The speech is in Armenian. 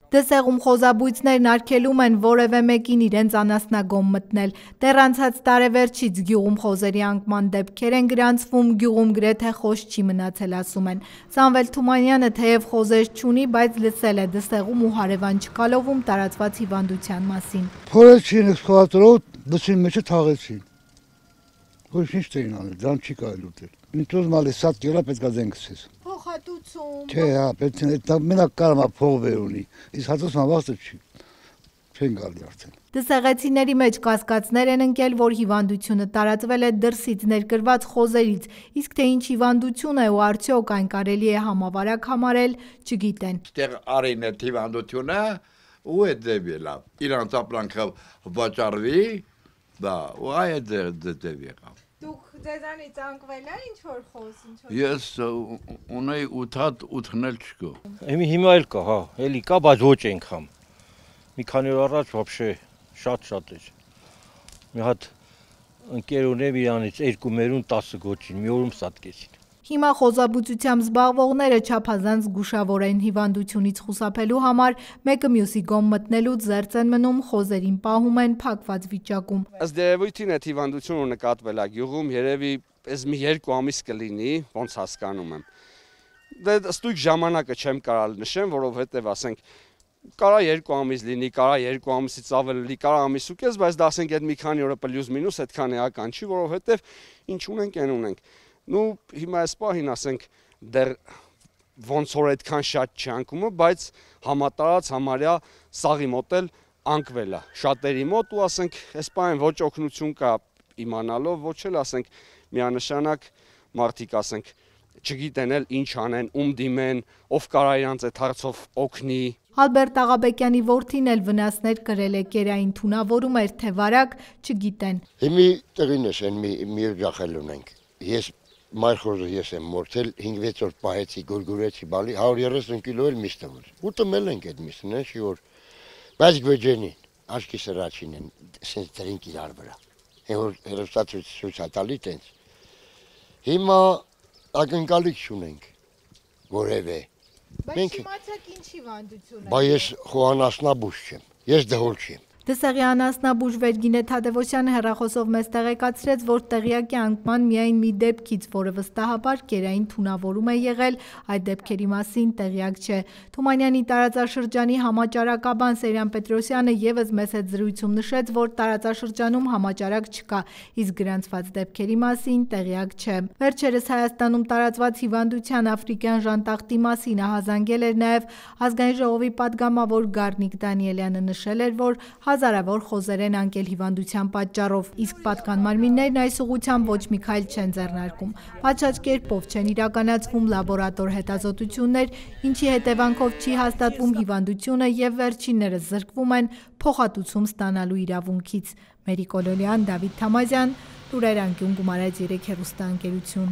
Դսեղում խոզաբույծներն արգելում են որևէ մեկին իրենց անասնագոմ մտնել։ Դեռ անցած տարեվերջից գյուղում խոզերի անկման դեպքեր են գրանցվում, գյուղում գրեթե խոզ չի մնացել, ասում են։ Սամվել Թումանյանը թեև խոզեր չունի, բայց լսել է Դսեղում ու հարևան Չկալովում տարածված հիվանդության մասին։ Փորեցին էքսկավատորով դսին մեջը թաղեցին։ Ոչ ինչ չէին անել, դրան չի կարելի ուտել։ Ինքնոց մալի սատ կիլո պետք է դեն գցես։ Փոխհատուցում։ Չէ, հա, պետք է դա մենակ կարողա փող վեր ունի։ Իսկ հատուցման վաստը չի։ Չեն գալի արդեն։ Դսեղեցիների մեջ կասկածներ են ընկել, որ հիվանդությունը տարածվել է դրսից ներկրված խոզերից, իսկ թե ինչ հիվանդություն է ու արդյոք այն կարելի է համավարակ համարել, չգիտեն։ Այդտեղ արին է հիվանդությունը ու է դեպիլա։ Իրանց ապրանքը վաճառվի, դա ու այ դեպի եղավ։ Դուք ձեզանից անկվել է ինչ որ խոզ, ինչ որ։ Ես ունեի 8 հատ ուտնել չկա։ Հիմա էլ կա, հա, էլի կա, բայց ոչ այնքան։ Մի քանի օր առաջ вообще շատ էր։ Մի հատ ընկեր ունեմ իրանից 2 մերուն 10 գոչին, մի օրում սատկեցին։ Հիմա խոզաբուծությամբ զբաղվողները չափազանց զգուշավոր են հիվանդությունից խուսափելու համար, մեկը մյուսի գոմ մտնելուց զերծ են մնում, խոզերին պահում են փակված վիճակում։ Ըստ երևույթին այդ հիվանդությունը նկատվել է գյուղում, երևի այս մի 2 ամիս կլինի, ոնց հասկանում եմ։ Դե ըստույք ժամանակը չեմ կարալ նշեմ, որովհետև ասենք կարա 2 ամիս լինի, կարա 2 ամիսից ավել լինի, կարա ամիս ու կես, բայց դա ասենք այդ մի քանի օրը պլյուս մինուս այդքան էական չի, որովհետև ինչ ունենք, այն ունենք։ Նու հիմա այս պահին ասենք դեռ ոնց որ այդքան շատ չի անկումը, բայց համատարած համարյա սաղի մոտ էլ անկվել է շատերի մոտ ու ասենք այս պահին ոչ օգնություն կա իմանալով, ոչ էլ ասենք միանշանակ մարդիկ ասենք չգիտեն էլ ինչ անեն, ում դիմեն, ով կարա իրանց այդ հարցով օգնի։ Ալբերտ Աղաբեկյանի որդին էլ վնասներ կրել է, կերային թունավորում էր, թե վարակ, չգիտեն։ Հիմի տեղին ես են մի օջախել ունենք։ Ես մայրխոզը ես եմ մորթել, 5-6 օր պահեցի, գորգորեցի, բալի, 130 կիլո էլ միս տվր։ Ուտմել ենք այդ միսն, չի որ, բայց գվեջենին, աչքի սրաչին են, սենց դրինք իրար վրա։ Են որ հերոստացույց հատալի տենց։ Հիմա ակնկալիք չունենք, որևէ։ Բայց չիմացաք ինչ հիվանդություն է։ Բա ես խոհանասնաբույժ չեմ, ես դհոլ չեմ։ Դսեղի անասնաբույժ Վերգինե Թադևոսյանը հեռախոսով մեզ տեղեկացրեց, որ տեղյակ է անկման միայն մի դեպքից, որը վստահաբար կերային թունավորում է եղել, այդ դեպքերի մասին տեղյակ չէ։ Թումանյանի տարածաշրջանի համաճարակաբան Սերյան Պետրոսյանը ևս մեծ հետ զրույցում նշեց, որ տարածաշրջանում համաճարակ չկա, իսկ գրանցված դեպքերի մասին տեղյակ չէ։ Վերջերս Հայաստանում տարածված հիվանդության աֆրիկյան ժանտախտի մասին ահազանգել էր նաև Ազգային ժողովի պատգամավոր Գառնիկ Դանիելյանը, նշել էր, որ հազարավոր խոզեր են անկել հիվանդության պատճառով, իսկ պատկան մարմիններն այս ուղղությամբ ոչ մի քայլ չեն ձեռնարկում։ Պատշաճ կերպով չեն իրականացվում լաբորատոր հետազոտություններ, ինչի հետևանքով չի հաստատվում հիվանդությունը և վերջիններս զրկվում են փոխհատուցում ստանալու իրավունքից։ Մերի Կոլոլյան, Դավիթ Թամազյան, Լուրեր անկյուն, Գումարած 3 հեռուստաընկերություն։